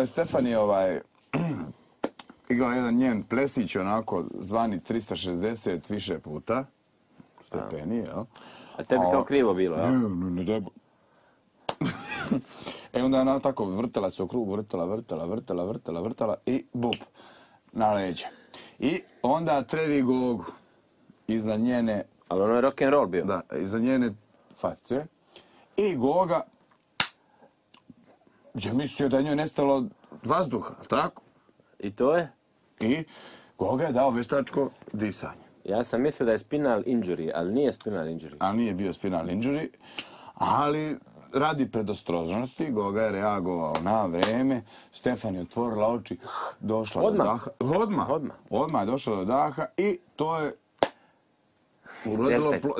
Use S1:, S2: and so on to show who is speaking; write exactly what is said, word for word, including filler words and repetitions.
S1: Stefani ovaj, igrao jedan njen plesić, onako zvani trista šezdeset više puta, stepeni, jel?
S2: A tebi kao krivo bilo, jel?
S1: Ne, ne, ne, debo. E onda ona tako vrtala se u krug, vrtala, vrtala, vrtala, vrtala, vrtala i bup, na leđe. I onda trevi Gogu iznad njene...
S2: Ali ono je rock'n'roll bio.
S1: Da, iznad njene face. I Goga je mislio da je njoj nestalo vazduha, tako?
S2: I to je?
S1: I Goga je dao veštačko disanje.
S2: Ja sam mislio da je spinal injury, ali nije spinal injury.
S1: Ali nije bio spinal injury, ali radi predostrožnosti Goga je reagovao na vreme, Stefani otvorila oči, došla
S2: Odmah.
S1: do daha. Odmah.
S2: Odmah.
S1: Odmah je došla do daha i to je urodilo...
S2: Sjepet.
S1: Plo...